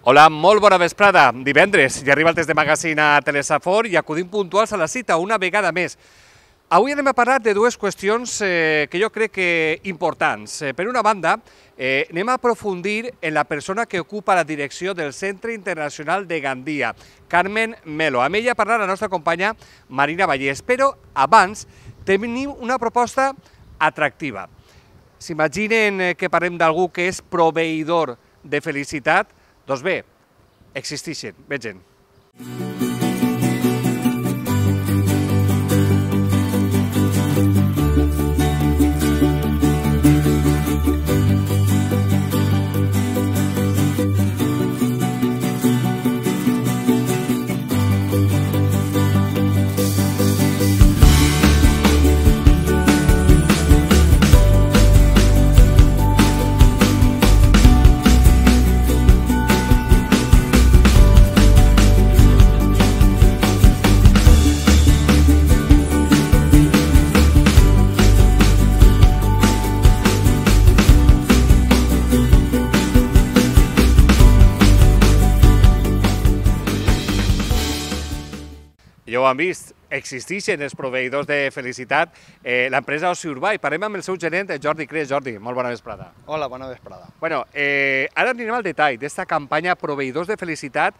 Hola, molt bona vesprada. Divendres ja arriba el test de magazine a Telesafor i acudim puntuals a la cita una vegada més. Avui anem a parlar de dues qüestions que jo crec que importants. Per una banda, anem a aprofundir en la persona que ocupa la direcció del Centre Internacional de Gandia, Carmen Melo. Amb ella parlarà la nostra companya Marina Vallès, però abans tenim una proposta atractiva. S'imaginen que parlem d'algú que és proveïdor de felicitat? Doncs bé, existeixen, vegin. Ja ho han vist, existeixen els proveïdors de felicitat, l'empresa Oci Urbà, i parlem amb el seu gerent, Jordi Cres. Jordi, molt bona vesprada. Hola, bona vesprada. Bueno, ara anirem al detall d'aquesta campanya Proveïdors de Felicitat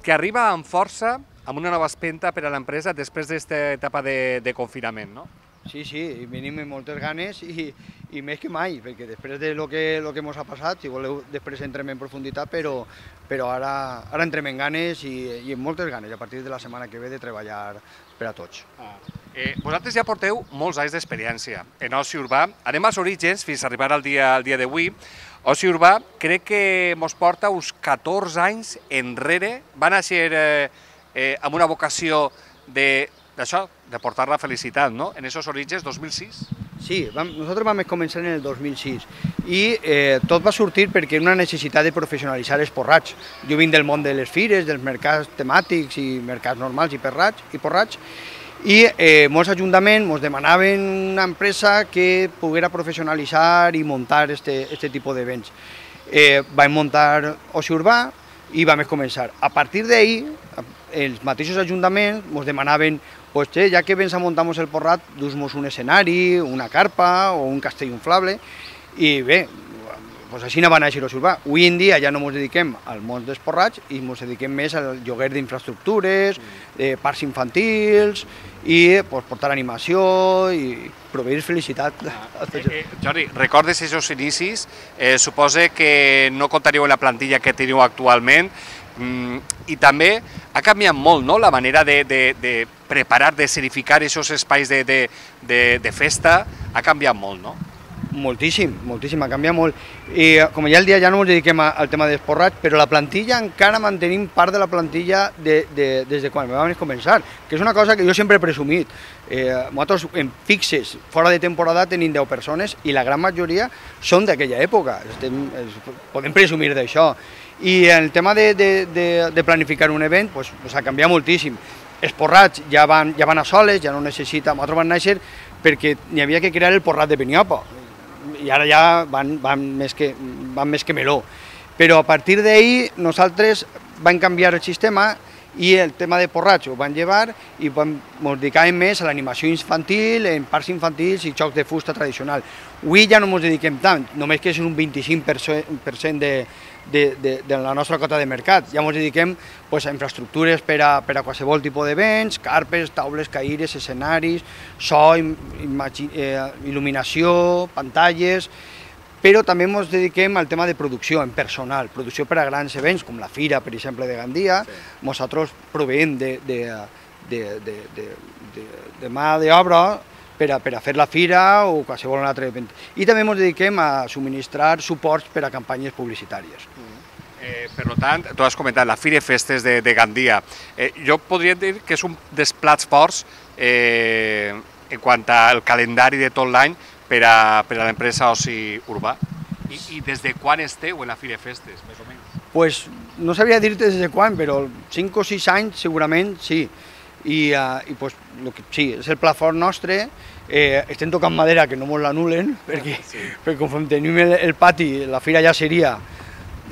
que arriba amb força, amb una nova espenta per a l'empresa després d'aquesta etapa de confinament, no? Sí, i venim amb moltes ganes i més que mai, perquè després de lo que ens ha passat, si voleu després entrem en profunditat, però ara entrem en ganes i amb moltes ganes, a partir de la setmana que ve, de treballar per a tots. Vosaltres ja porteu molts anys d'experiència en Oci Urbà. Anem als orígens fins a arribar al dia d'avui. Oci Urbà crec que ens porta uns 14 anys enrere. Va néixer amb una vocació d'això, de portar la felicitat, no? En aquests orígens, 2006? Sí, nosaltres vam començar en el 2006 i tot va sortir perquè era una necessitat de professionalitzar els porrats. Jo vinc del món de les fires, dels mercats temàtics i mercats normals i porrats, i molts ajuntaments ens demanaven una empresa que poguera professionalitzar i muntar aquest tipus d'events. Vam muntar Oci Urbà i vam començar. A partir d'ahir, els mateixos ajuntaments ens demanaven ja que vens a muntar-nos el porrat, dus-nos un escenari, una carpa o un castell inflable, i bé, així va néixer Oci Urbà. Avui en dia ja no ens dediquem al món dels porrats i ens dediquem més al lloguer d'infraestructures, parcs infantils i portar animació i proveir felicitat. Jordi, recordes aquests inicis? Suposa que no comptaríeu en la plantilla que teniu actualment, i també ha canviat molt, no?, la manera de preparar, de escenificar aquests espais de festa, ha canviat molt, no? Moltíssim, ha canviat molt. I com ja el dia ja no ens dediquem al tema dels porrats, però la plantilla encara mantenim part de la plantilla des de quan vam començar, que és una cosa que jo sempre he presumit. Nosaltres en fixes, fora de temporada, tenim 10 persones i la gran majoria són d'aquella època. Podem presumir d'això. I el tema de planificar un event ha canviat moltíssim. Els porrats ja van a soles, ja no necessita... Nosaltres vam néixer perquè n'hi havia que crear el porrat de Beniopa i ara ja van més que meló. Però a partir d'ahir nosaltres vam canviar el sistema i el tema de porrats ho van llevar i ens dedicàvem més a l'animació infantil, en parcs infantils i jocs de fusta tradicional. Avui ja no ens dediquem tant, només que és un 25% de la nostra cota de mercat. Ja ens dediquem a infraestructures per a qualsevol tipus d'events, carpes, taules, caires, escenaris, so, il·luminació, pantalles, però també ens dediquem al tema de producció en personal, producció per a grans events, com la Fira, per exemple, de Gandia. Nosaltres proveïm de mà d'obra per a fer la Fira o qualsevol altre event. I també ens dediquem a subministrar suports per a campanyes publicitàries. Per tant, tu has comentat la Fira i Festes de Gandia. Jo podria dir que és un dels plats forts en quant al calendari de tot l'any per a l'empresa Oci Urbà. I des de quan esteu en la Fira i Festes, més o menys? No sabria dir-te des de quan, però 5 o 6 anys segurament sí. I sí, és el pla fort nostre. Estem tocant madera que no ens l'anulen, perquè conforme tenim el pati, la fira ja seria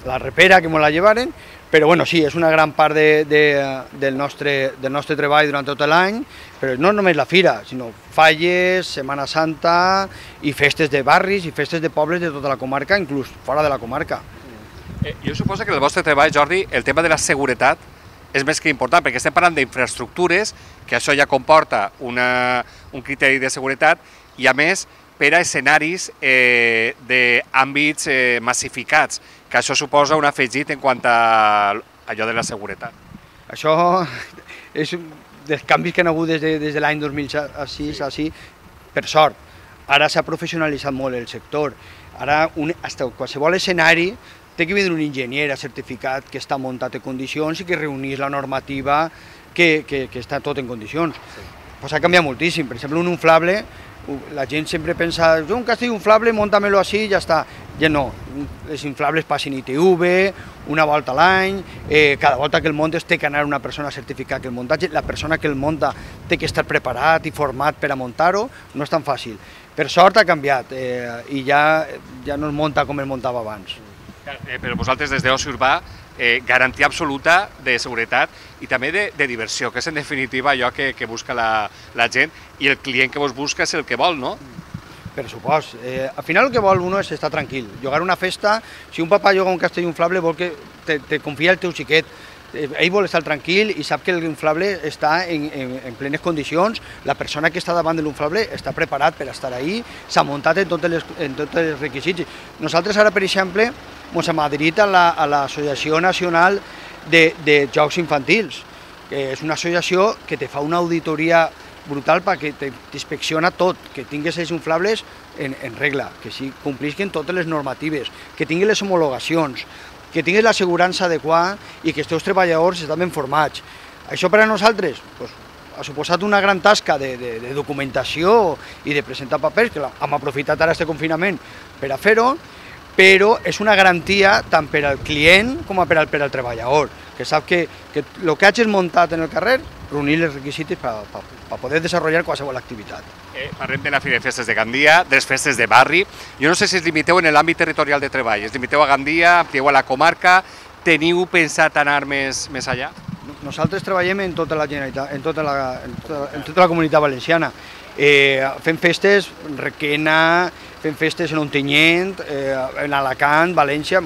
la repera que me la llevaren, però bueno, sí, és una gran part del nostre treball durant tot l'any, però no només la fira, sinó falles, Setmana Santa i festes de barris i festes de pobles de tota la comarca, inclús fora de la comarca. Jo suposo que en el vostre treball, Jordi, el tema de la seguretat és més que important, perquè estem parlant d'infraestructures, que això ja comporta un criteri de seguretat, i a més per a escenaris d'àmbits massificats, que això suposa un afegit en quant a allò de la seguretat. Això és dels canvis que han hagut des de l'any 2006 així, per sort. Ara s'ha professionalitzat molt el sector. Ara, qualsevol escenari té que vindre un enginyer certificat que està muntat en condicions i que reunís la normativa que està tot en condicions. Pues ha canviat moltíssim. Per exemple, un inflable, la gent sempre pensa, jo un castell inflable, monta-me-lo així i ja està. Ja no, els inflables passen ITV, una volta a l'any, cada volta que el muntes té que anar una persona a certificar que el muntatge, la persona que el munta té que estar preparat i format per a muntar-ho, no és tan fàcil. Per sort ha canviat i ja no es munta com es muntava abans. Però vosaltres des d'Oci Urbà, garantia absoluta de seguretat i també de diversió, que és en definitiva allò que busca la gent, i el client que vos busca és el que vol, no? Per supost. Al final el que vol uno és estar tranquil. Llogar una festa, si un papà lloga un castell inflable vol que te confia el teu xiquet. Ell vol estar tranquil i sap que l'inflable està en plenes condicions, la persona que està davant de l'inflable està preparat per estar ahí, s'ha muntat en tots els requisits. Nosaltres ara, per exemple, ens hem adherit a l'Associació Nacional de Jocs Infantils, que és una associació que te fa una auditoria brutal perquè t'inspecciona tot, que tinguis els inflables en regla, que complisquen totes les normatives, que tinguin les homologacions, que tinguis l'assegurança adequada i que els teus treballadors estan ben formats. Això per a nosaltres ha suposat una gran tasca de documentació i de presentar papers, que hem aprofitat ara aquest confinament per a fer-ho, però és una garantia tant per al client com per al treballador, que sap que el que hagis muntat en el carrer, reunir els requisits per poder desenvolupar qualsevol activitat. Parlem de la Fira de Festes de Gandia, de les festes de barri. Jo no sé si es limiteu en l'àmbit territorial de treball, es limiteu a Gandia, amplieu a la comarca, teniu pensat anar més allà? Nosaltres treballem en tota la Generalitat, en tota la Comunitat Valenciana. Fem festes en Requena, fem festes en Ontinyent, en Alacant, València.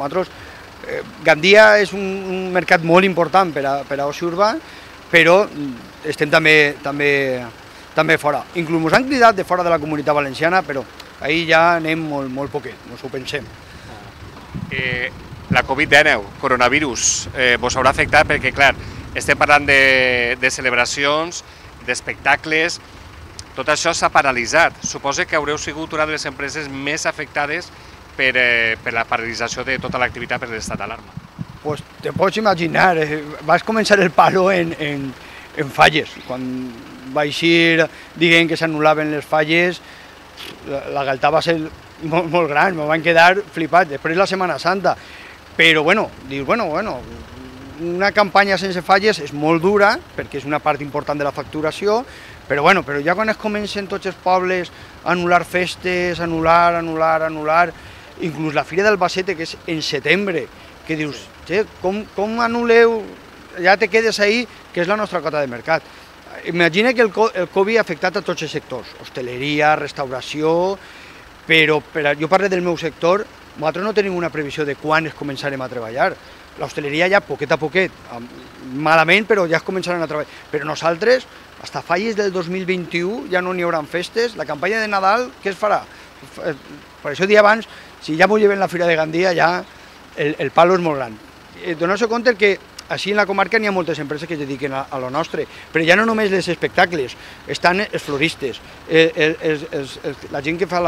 Gandia és un mercat molt important per a Oci Urbà, però estem també fora. Inclús ens han cridat de fora de la Comunitat Valenciana, però ahir ja anem molt poquet, ens ho pensem. La Covid-19, coronavirus, vos haurà afectat perquè, clar, estem parlant de celebracions, d'espectacles, tot això s'ha paralitzat. Suposo que haureu sigut una de les empreses més afectades per la paralització de tota l'activitat per l'estat d'alarma. Pues te pots imaginar, vas començar el palo en falles. Quan va eixir dient que s'anul·laven les falles, la galtà va ser molt gran, me van quedar flipats. Després la Setmana Santa, però dius, una campanya sense falles és molt dura, perquè és una part important de la facturació, però ja quan es comencen tots els pobles a anul·lar festes, anul·lar, inclús la Fira d'Albacete, que és en setembre, que dius, com anul·leu, ja te quedes ahí, que és la nostra cota de mercat. Imagina que el Covid ha afectat a tots els sectors, hostaleria, restauració, però jo parlo del meu sector, nosaltres no tenim una previsió de quan es començarem a treballar. L'hostaleria ja poquet a poquet, malament, però ja es començaran a treballar. Però nosaltres, fins a falles del 2021, ja no n'hi haurà festes. La campanya de Nadal, què es farà? Per això dia abans, si ja m'ho lleven la Fira de Gandia, ja el palo és molt gran. Donar-se compte que així en la comarca n'hi ha moltes empreses que es dediquen a lo nostre, però ja no només els espectacles, estan els floristes, la gent que fa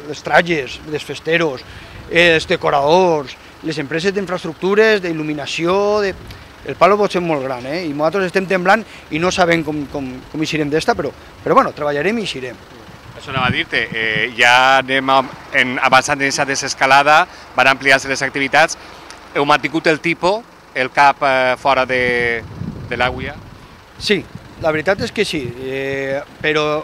les trajes, els festeros, els decoradors, les empreses d'infraestructures, d'il·luminació, el palo pot ser molt gran, i nosaltres estem temblant i no sabem com eixirem d'esta, però treballarem i eixirem. Això anava a dir-te, ja anem avançant en aquesta desescalada, van ampliar-se les activitats, heu mantingut el tipus, el cap fora de l'aigua? Sí, la veritat és que sí, però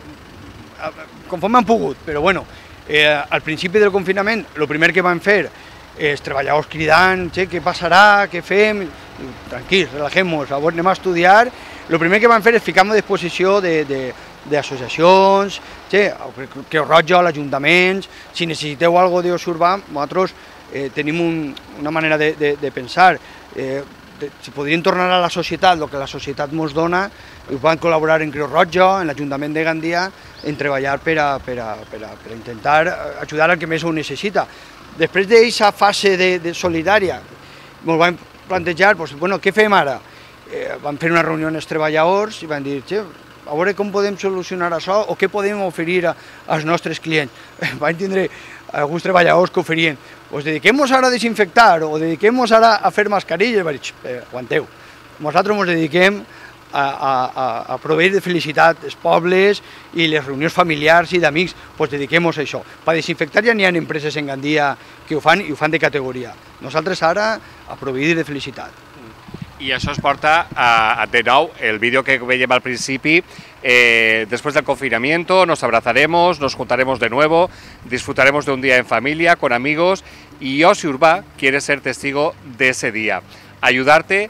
conforme han pogut, però al principi del confinament, el primer que vam fer els treballadors cridant, què passarà, què fem? Tranquils, relajem-nos, anem a estudiar. El primer que vam fer és ficar-nos a disposició d'associacions, Creu Roja, l'Ajuntament. Si necessiteu alguna cosa d'oci urbà, nosaltres tenim una manera de pensar. Si podrien tornar a la societat, el que la societat ens dona, i van col·laborar en Creu Roja, en l'Ajuntament de Gandia, en treballar per intentar ajudar al que més ho necessita. Després d'aquesta fase solidària, ens vam plantejar, què fem ara? Vam fer una reunió amb els treballadors i vam dir, a veure com podem solucionar això o què podem oferir als nostres clients. Vam tindre alguns treballadors que oferien, dediquem-nos ara a desinfectar o dediquem-nos ara a fer mascarilles. Vaig dir, aguanteu, nosaltres ens dediquem a proveir de felicitat els pobles i les reunions familiars i d'amics, dediquem-nos a això. Per desinfectar ja n'hi ha empreses en Gandia que ho fan i ho fan de categoria. Nosaltres ara a proveir de felicitat. I això es porta de nou el vídeo que veiem al principi. Después del confinamiento nos abrazaremos, nos juntaremos de nuevo, disfrutaremos de un día en familia, con amigos, y Oci Urbà quiere ser testigo de ese día, ayudarte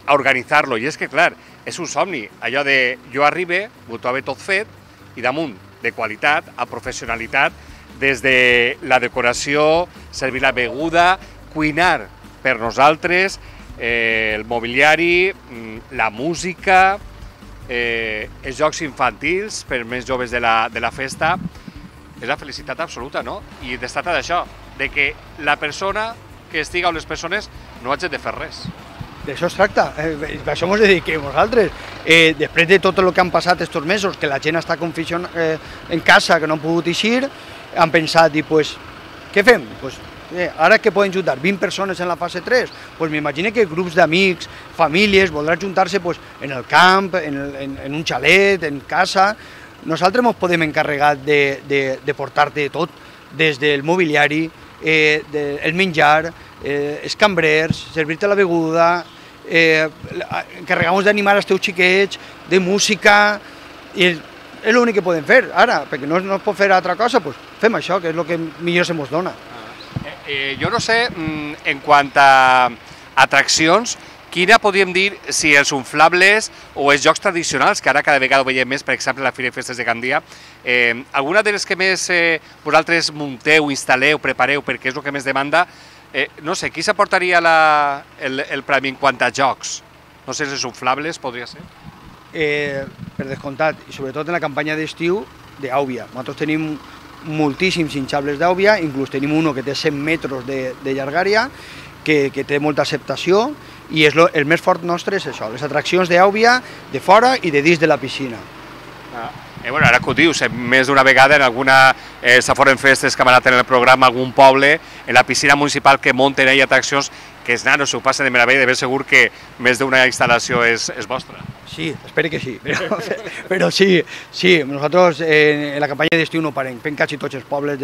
a organitzar-lo. I és que, clar, és un somni, allò de jo arribe, ho trobo tot fet, i damunt de qualitat a professionalitat, des de la decoració, servir la beguda, cuinar per nosaltres, el mobiliari, la música, els jocs infantils per més joves de la festa. És la felicitat absoluta, no? I es tracta d'això, de que la persona que estiga o les persones no hagin de fer res. D'això es tracta, a això ens dediquem nosaltres. Després de tot el que han passat aquests mesos, que la gent està en casa, que no han pogut eixir, han pensat, què fem? Ara que poden juntar 20 persones en la fase 3, m'imagino que grups d'amics, famílies, voldran juntar-se en el camp, en un xalet, en casa. Nosaltres ens podem encarregar de portar-te tot, des del mobiliari, el menjar, els cambrers, servir-te la beguda, encarregar-nos d'animar els teus xiquets, de música, i és l'únic que podem fer ara, perquè no es pot fer altra cosa, fem això, que és el que millor se ens dona. Jo no sé, en quant a atraccions, quina podríem dir si els inflables o els jocs tradicionals, que ara cada vegada ho veiem més, per exemple, la Fira de Festes de Gandia, alguna de les que més vosaltres munteu, instal·leu, prepareu, perquè és el que més demanda, no sé, qui s'aportaria el premi en quant a jocs? No sé si els inflables podria ser? Per descomptat, i sobretot en la campanya d'estiu d'Àubia. Nosaltres tenim moltíssims hinxables d'Àubia, inclús tenim uno que té 100 metres de llargària, que té molta acceptació, i el més fort nostre és això, les atraccions d'Àubia, de fora i de dins de la piscina. Ara que ho dius, més d'una vegada en alguna Saforen Festes que hem anat en el programa, algun poble, en la piscina municipal que munten ahí atraccions que els nanos s'ho passen de meravella, de ben segur que més d'una instal·lació és vostra. Sí, espero que sí, però sí, nosaltres en la campanya d'estiu no parem, fem quasi tots els pobles,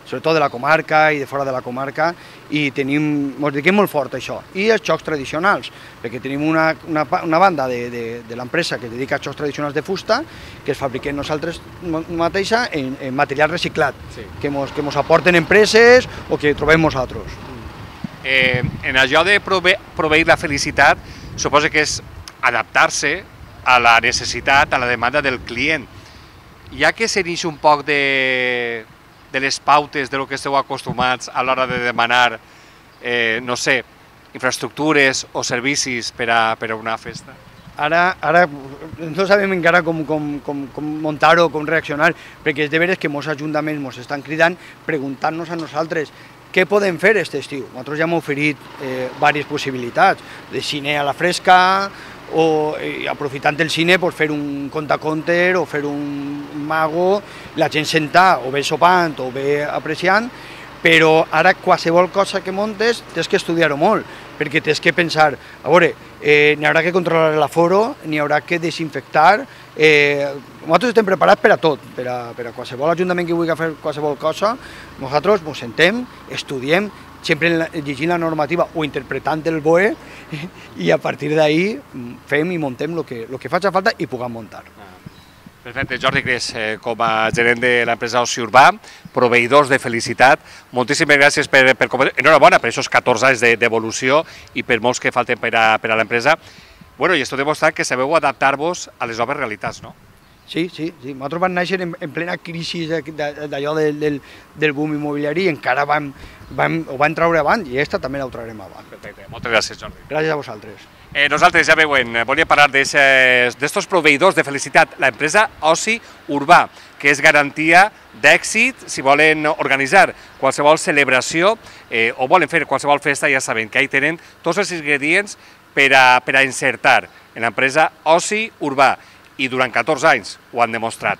sobretot de la comarca i de fora de la comarca, i ens dediquem molt fort a això. I els jocs tradicionals, perquè tenim una banda de l'empresa que es dedica als jocs tradicionals de fusta, que es fabriquem nosaltres mateixa en material reciclat, que ens aporten empreses o que trobem nosaltres. En allò de proveir la felicitat, suposo que és adaptar-se a la necessitat, a la demanda del client. Ja que s'inicia un poc de les pautes de lo que esteu acostumats a l'hora de demanar, no sé, infraestructures o servicis per a una festa? Ara no sabem encara com muntar-ho, com reaccionar, perquè és de veres que molts ajuntaments ens estan cridant preguntant-nos a nosaltres què podem fer aquest estiu. Nosaltres ja hem oferit diverses possibilitats, de cine a la fresca, o aprofitant el cine fer un contaconter o fer un mago, la gent sentar o bé sopant o bé apreciant, però ara qualsevol cosa que muntes tens que estudiar-ho molt, perquè tens que pensar, a veure, n'hi haurà que controlar l'aforo, n'hi haurà que desinfectar, nosaltres estem preparats per a tot, per a qualsevol ajuntament que vulgui fer qualsevol cosa, nosaltres ens sentem, estudiem, sempre llegint la normativa o interpretant el BOE, i a partir d'ahí fem i muntem el que faci falta i puguem muntar. Perfecte, Jordi Gres, com a gerent de l'empresa Oci Urbà, proveïdors de felicitat, moltíssimes gràcies per enhorabona per aquests 14 anys d'evolució i per molts que falten per a l'empresa. Bueno, i esto demostra que sabeu adaptar-vos a les noves realitats, no? Sí. Nosaltres vam néixer en plena crisi d'allò del boom immobiliari i encara ho vam treure avant i aquesta també la traurem avant. Perfecte, moltes gràcies, Jordi. Gràcies a vosaltres. Nosaltres, ja veuen, volíem parlar d'estos proveïdors de felicitat, l'empresa Oci Urbà, que és garantia d'èxit si volen organitzar qualsevol celebració o volen fer qualsevol festa, ja saben que ahí tenen tots els ingredients per a encertar en l'empresa Oci Urbà. I durant 14 anys ho han demostrat.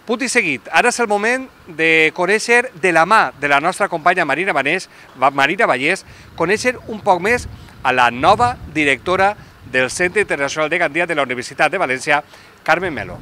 Punt i seguit, ara és el moment de conèixer de la mà de la nostra companya Marina Vallès, conèixer un poc més a la nova directora del Centre Internacional de Gandia de la Universitat de València, Carmen Melo.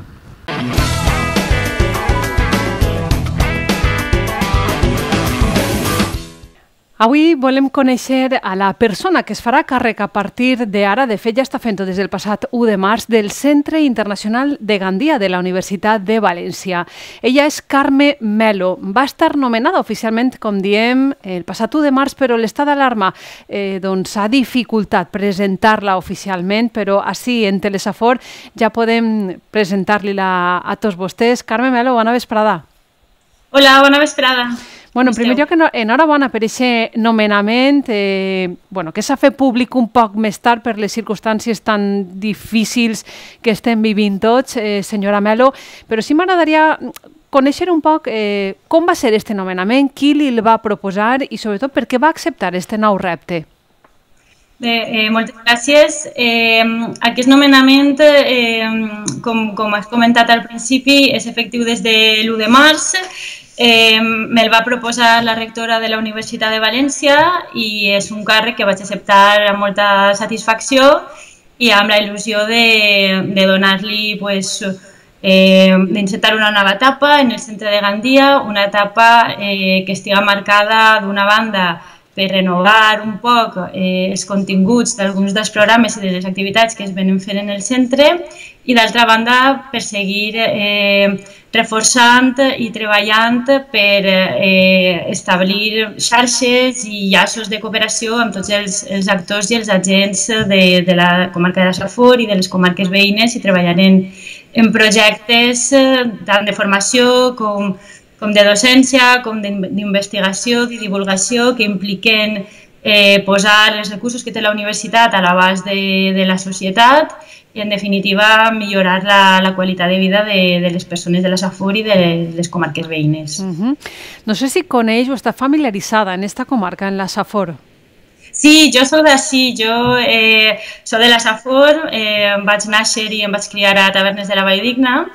Avui volem conèixer a la persona que es farà càrrec a partir d'ara, de fet ja està fent-ho des del passat 1 de març, del Centre Internacional de Gandia de la Universitat de València. Ella és Carme Melo. Va estar nomenada oficialment, com diem, el passat 1 de març, però l'estat d'alarma ha dificultat presentar-la oficialment, però així en Telesafor ja podem presentar-li-la a tots vostès. Carme Melo, bona vesprada. Hola, bona vesprada. Bueno, en primer lloc, enhorabona per aquest nomenament, que s'ha fet públic un poc més tard per les circumstàncies tan difícils que estem vivint tots, senyora Melo, però sí m'agradaria conèixer un poc com va ser aquest nomenament, qui li va proposar i sobretot per què va acceptar aquest nou repte. Bé, moltes gràcies. Aquest nomenament, com has comentat al principi, és efectiu des de l'1 de març. Me'l va proposar la rectora de la Universitat de València i és un càrrec que vaig acceptar amb molta satisfacció i amb la il·lusió de donar-li, d'encetar una nova etapa en el centre de Gandia, una etapa que estiga marcada d'una banda per renovar un poc els continguts d'alguns dels programes i de les activitats que es venen fent en el centre i d'altra banda per seguir reforçant i treballant per establir xarxes i llaços de cooperació amb tots els actors i els agents de la comarca de la Safor i de les comarques veïnes i treballant en projectes tant de formació com de docència, com d'investigació, de divulgació, que impliquen posar els recursos que té la universitat a l'abast de la societat i, en definitiva, millorar la qualitat de vida de les persones de la Safor i de les comarques veïnes. No sé si coneix o està familiaritzada en aquesta comarca, en la Safor. Sí, jo soc d'ací, jo soc de la Safor, vaig néixer i em vaig criar a Tavernes de la Valldigna,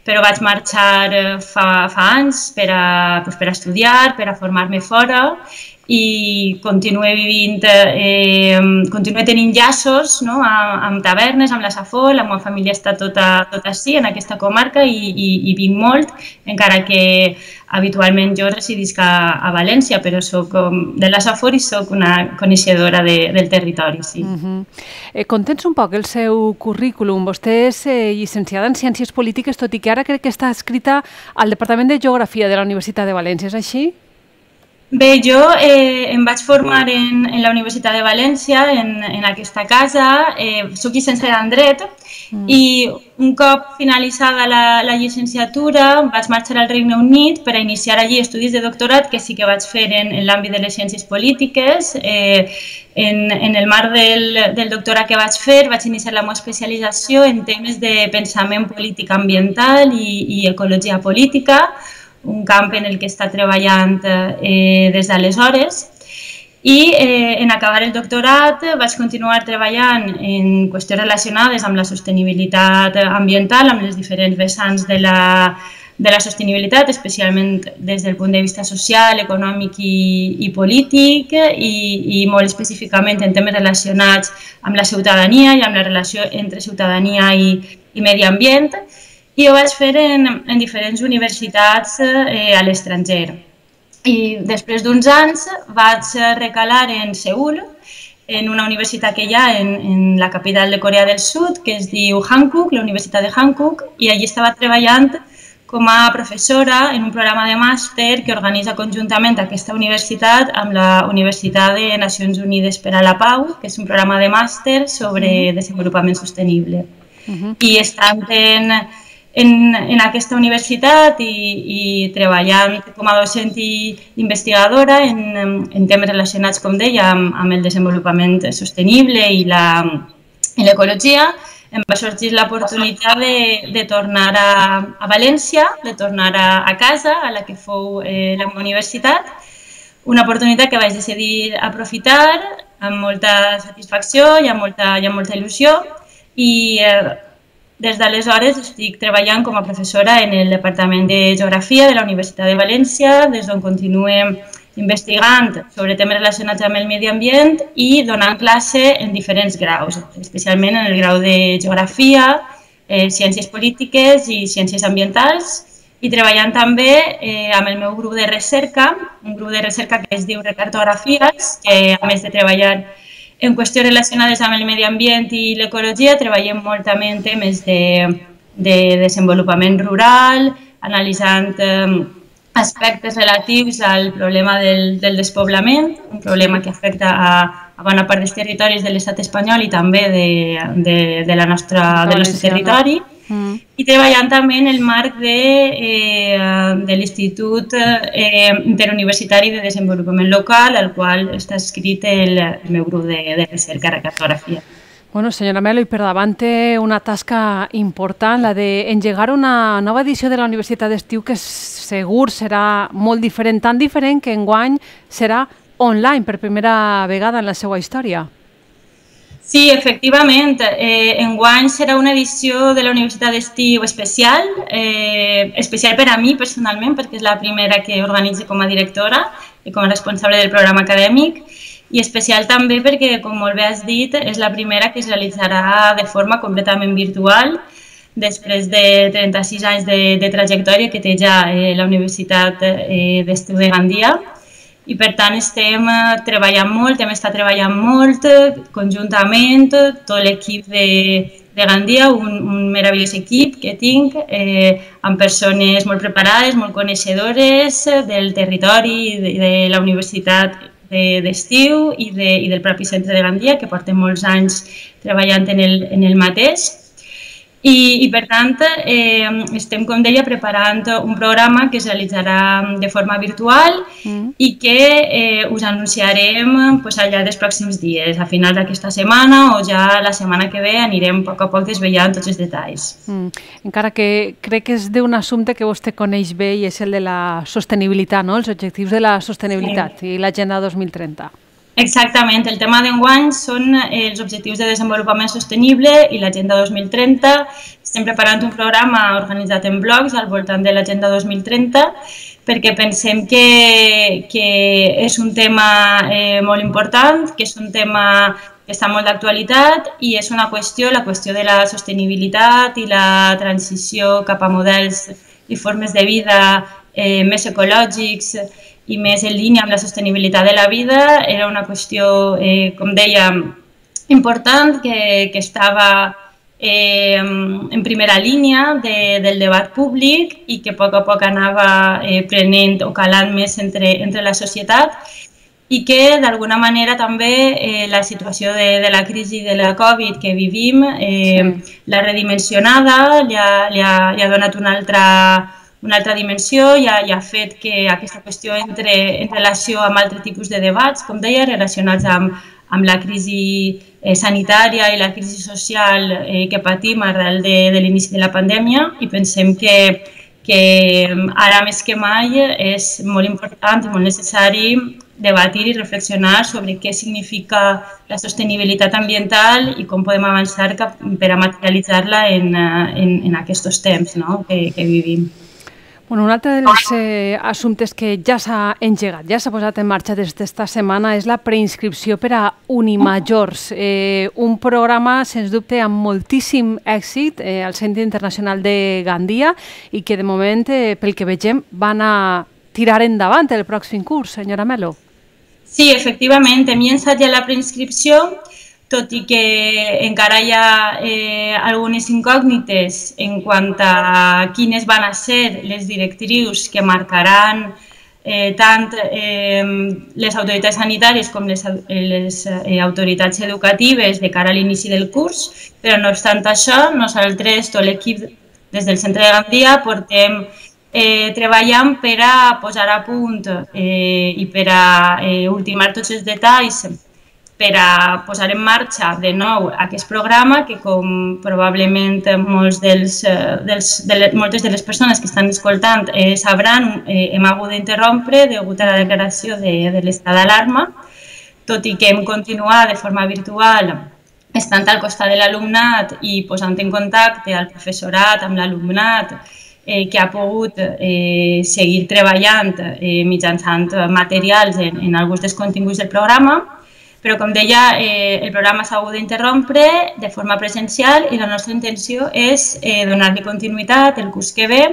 però vaig marxar fa anys per a estudiar, per a formar-me fora i continuo tenint llaços amb Tavernes, amb la Safor, la meva família està tota així, en aquesta comarca i vinc molt, encara que habitualment jo residisc a València, però soc de la Safor i soc una coneixedora del territori. Contents un poc el seu currículum. Vostè és llicenciada en Ciències Polítiques, tot i que ara crec que està adscrita al Departament de Geografia de la Universitat de València, és així? Bé, jo em vaig formar en la Universitat de València, en aquesta casa, soc llicenciada en Dret i un cop finalitzada la llicenciatura vaig marxar al Regne Unit per a iniciar allí estudis de doctorat que sí que vaig fer en l'àmbit de les ciències polítiques. En el marc del doctorat que vaig fer vaig iniciar la meva especialització en temes de pensament polític ambiental i ecologia política, un camp en el que està treballant des d'aleshores. I en acabar el doctorat vaig continuar treballant en qüestions relacionades amb la sostenibilitat ambiental, amb les diferents vessants de la sostenibilitat, especialment des del punt de vista social, econòmic i polític, i molt específicament en temes relacionats amb la ciutadania i amb la relació entre ciutadania i medi ambient. I ho vaig fer en diferents universitats a l'estranger. I després d'uns anys vaig recalar en Seül en una universitat que hi ha en la capital de Corea del Sud, que es diu Hankook, la Universitat de Hankook, i allí estava treballant com a professora en un programa de màster que organitza conjuntament aquesta universitat amb la Universitat de Nacions Unides per a la Pau, que és un programa de màster sobre desenvolupament sostenible. I estant en aquesta universitat i treballant com a docent i investigadora en temes relacionats, com deia, amb el desenvolupament sostenible i l'ecologia, em va sorgir l'oportunitat de tornar a València, de tornar a casa, a la que fou la meva universitat, una oportunitat que vaig decidir aprofitar amb molta satisfacció i amb molta il·lusió, i des d'aleshores estic treballant com a professora en el Departament de Geografia de la Universitat de València, des d'on continuem investigant sobre temes relacionats amb el medi ambient i donant classe en diferents graus, especialment en el grau de Geografia, Ciències Polítiques i Ciències Ambientals, i treballant també amb el meu grup de recerca, un grup de recerca que es diu Recartografies, que a més de treballar en qüestions relacionades amb el medi ambient i l'ecologia, treballem molt també en temes de desenvolupament rural, analitzant aspectes relatius al problema del despoblament, un problema que afecta a bona part dels territoris de l'estat espanyol i també del nostre territori, i treballant també en el marc de l'Institut Interuniversitari de Desenvolupament Local, al qual està escrit el meu grup de recerca, Recartografia. Bueno, senyora Melo, i per davant té una tasca important, la d'engegar una nova edició de la Universitat d'Estiu que segur serà molt diferent, tan diferent que enguany serà online per primera vegada en la seva història. Sí, efectivament. Enguany serà una edició de la Universitat d'Estiu especial, especial per a mi personalment, perquè és la primera que organitzo com a directora i com a responsable del programa acadèmic, i especial també perquè, com molt bé has dit, és la primera que es realitzarà de forma completament virtual, després de 36 anys de trajectòria que té ja la Universitat d'Estiu de Gandia. I per tant estem treballant molt, hem estat treballant molt conjuntament, tot l'equip de Gandia, un meravellós equip que tinc, amb persones molt preparades, molt coneixedores del territori i de la Universitat d'Estiu i del propi centre de Gandia, que porten molts anys treballant en el mateix. I per tant, estem, com deia, preparant un programa que es realitzarà de forma virtual i que us anunciarem al llarg dels pròxims dies. A finals d'aquesta setmana o ja la setmana que ve anirem a poc desvetllant tots els detalls. Encara que crec que és d'un assumpte que vostè coneix bé i és el de la sostenibilitat, els objectius de la sostenibilitat i l'Agenda 2030. Exactament, el tema d'enguany són els objectius de desenvolupament sostenible i l'Agenda 2030. Estem preparant un programa organitzat en blocs al voltant de l'Agenda 2030 perquè pensem que és un tema molt important, que és un tema que està molt d'actualitat i és una qüestió, la qüestió de la sostenibilitat i la transició cap a models i formes de vida més ecològics i més en línia amb la sostenibilitat de la vida. Era una qüestió, com deia, important, que estava en primera línia del debat públic i que a poc anava prenent o calant més entre la societat i que d'alguna manera també la situació de la crisi de la Covid que vivim l'ha redimensionada, li ha donat una altra dimensió i ha fet que aquesta qüestió entre en relació amb altres tipus de debats, com deia, relacionats amb la crisi sanitària i la crisi social que patim arrel de l'inici de la pandèmia, i pensem que ara més que mai és molt important i molt necessari debatir i reflexionar sobre què significa la sostenibilitat ambiental i com podem avançar per a materialitzar-la en aquests temps que vivim. Un altre dels assumptes que ja s'ha engegat, ja s'ha posat en marxa des d'esta setmana és la preinscripció per a Unimajors, un programa, sens dubte, amb moltíssim èxit al Centre Internacional de Gandia i que, de moment, pel que vegem, van a tirar endavant el pròxim curs, senyora Melo. Sí, efectivament, hem llançat ja la preinscripció, tot i que encara hi ha algunes incògnites en quant a quines van a ser les directrius que marcaran tant les autoritats sanitàries com les autoritats educatives de cara a l'inici del curs, però no obstant això, nosaltres, tot l'equip des del Centre de Gandia, portem treballant per a posar a punt i per a ultimar tots els detalls per a posar en marxa de nou aquest programa que, com probablement moltes de les persones que estan escoltant sabran, hem hagut d'interrompre degut a la declaració de l'estat d'alarma, tot i que hem continuat de forma virtual estant al costat de l'alumnat i posant en contacte al professorat amb l'alumnat que ha pogut seguir treballant mitjançant materials en alguns dels continguts del programa. Però, com deia, el programa s'ha hagut d'interrompre de forma presencial i la nostra intenció és donar-li continuïtat el curs que ve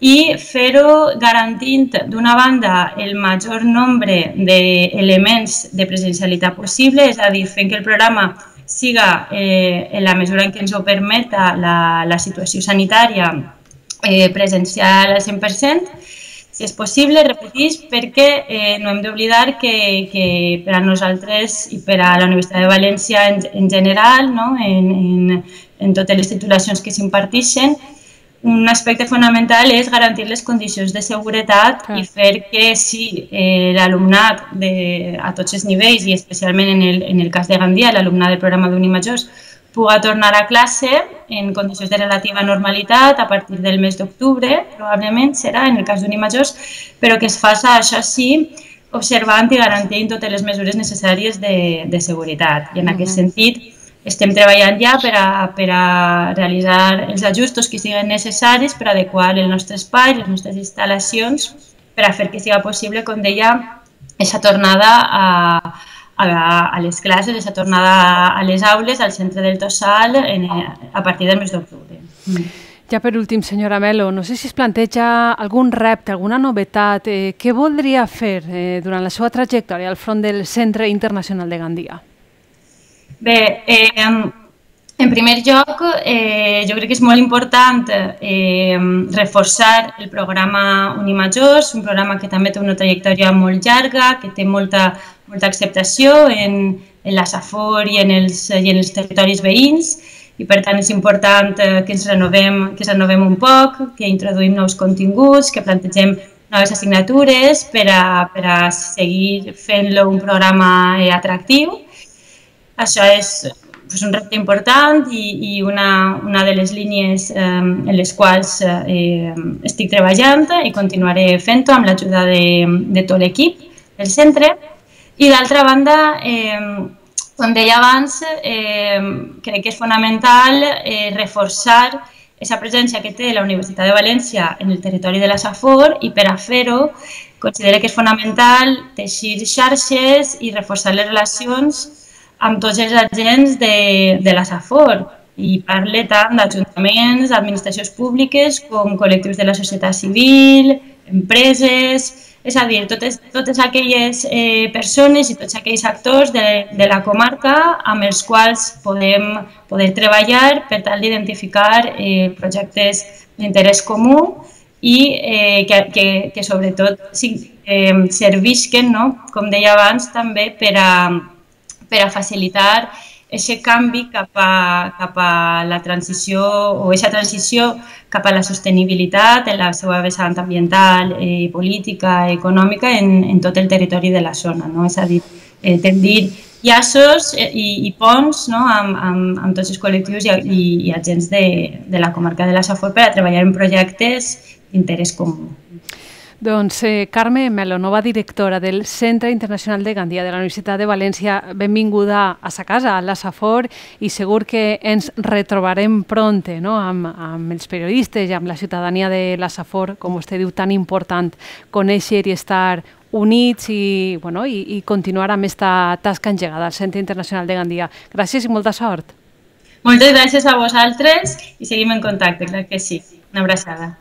i fer-ho garantint, d'una banda, el major nombre d'elements de presencialitat possible, és a dir, fent que el programa siga, en la mesura en què ens ho permeta la situació sanitària, presencial al 100%, si és possible, repetís, perquè no hem d'oblidar que per a nosaltres i per a la Universitat de València en general, en totes les titulacions que s'imparteixen, un aspecte fonamental és garantir les condicions de seguretat i fer que si l'alumnat a tots els nivells, i especialment en el cas de Gandia, l'alumnat del programa d'Unimajors, puga tornar a classe en condicions de relativa normalitat a partir del mes d'octubre, probablement serà en el cas d'Unimajors, però que es faci això sí, observant i garantint totes les mesures necessàries de seguretat. I en aquest sentit estem treballant ja per a realitzar els ajustos que siguin necessaris per adequar el nostre espai, les nostres instal·lacions, per a fer que sigui possible, com deia, aquesta tornada a les classes, aquesta tornada a les aules, al centre del Tossal, a partir del mes d'octubre. Ja per últim, senyora Melo, no sé si es planteja algun repte, alguna novetat. Què voldria fer durant la seva trajectòria al front del Centre Internacional de Gandia? Bé, en primer lloc, jo crec que és molt important reforçar el programa Unimajors, un programa que també té una trajectòria molt llarga, que té molta acceptació en la Safor i en els territoris veïns, i per tant és important que ens renovem un poc, que introduïm nous continguts, que plantegem noves assignatures per a seguir fent-lo un programa atractiu. Això és un repte important i una de les línies en les quals estic treballant i continuaré fent-ho amb l'ajuda de tot l'equip del centre. I d'altra banda, com deia abans, crec que és fonamental reforçar aquesta presència que té la Universitat de València en el territori de la Safor i per a fer-ho considero que és fonamental teixir xarxes i reforçar les relacions amb tots els agents de la Safor i parle tant d'ajuntaments, administracions públiques com col·lectius de la societat civil, empreses, és a dir, totes aquelles persones i tots aquells actors de la comarca amb els quals poder treballar per tal d'identificar projectes d'interès comú i que sobretot servisquen, com deia abans, també per a facilitar aquest canvi cap a la transició o aquesta transició cap a la sostenibilitat en la seva vessant ambiental, política, econòmica en tot el territori de la zona. És a dir, tendir llaços i ponts amb tots els col·lectius i agents de la comarca de la Safor per a treballar en projectes d'interès comú. Doncs Carme Melo, nova directora del Centre Internacional de Gandia de la Universitat de València, benvinguda a sa casa, a la Safor, i segur que ens retrobarem pront amb els periodistes i amb la ciutadania de la Safor, com vostè diu, tan important conèixer i estar units i continuar amb aquesta tasca engegada al Centre Internacional de Gandia. Gràcies i molta sort. Moltes gràcies a vosaltres i seguim en contacte, clar que sí. Una abraçada.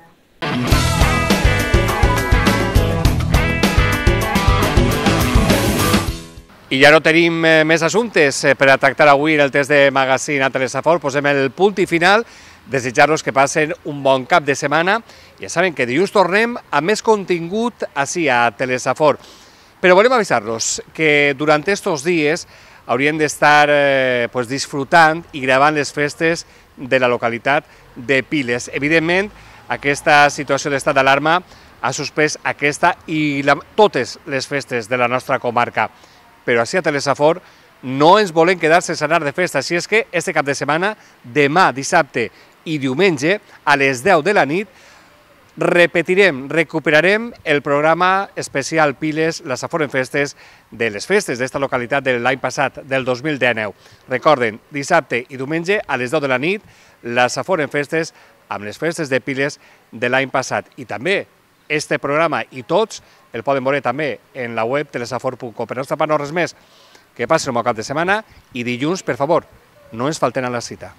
I ja no tenim més assumptes per a tractar avui en el test de magazín a Telesafor. Posem el punt i final. Desitjar-los que passen un bon cap de setmana. Ja saben que dilluns tornem amb més contingut així a Telesafor. Però volem avisar-los que durant aquests dies haurien d'estar disfrutant i gravant les festes de la localitat de Piles. Evidentment, aquesta situació d'estat d'alarma ha suspès aquesta i totes les festes de la nostra comarca. Però així a Telesafor no ens volem quedar sense anar de festa, així és que este cap de setmana, demà, dissabte i diumenge, a les 10 de la nit, recuperarem el programa especial Piles, la Safor en Festes, de les festes d'esta localitat de l'any passat, del 2019. Recorden, dissabte i diumenge, a les 10 de la nit, la Safor en Festes, amb les festes de Piles de l'any passat. I també, este programa i tots el poden veure també en la web telesafor.com. Per nostra part no res més, que passin un bon cap de setmana i dilluns, per favor, no ens falten a la cita.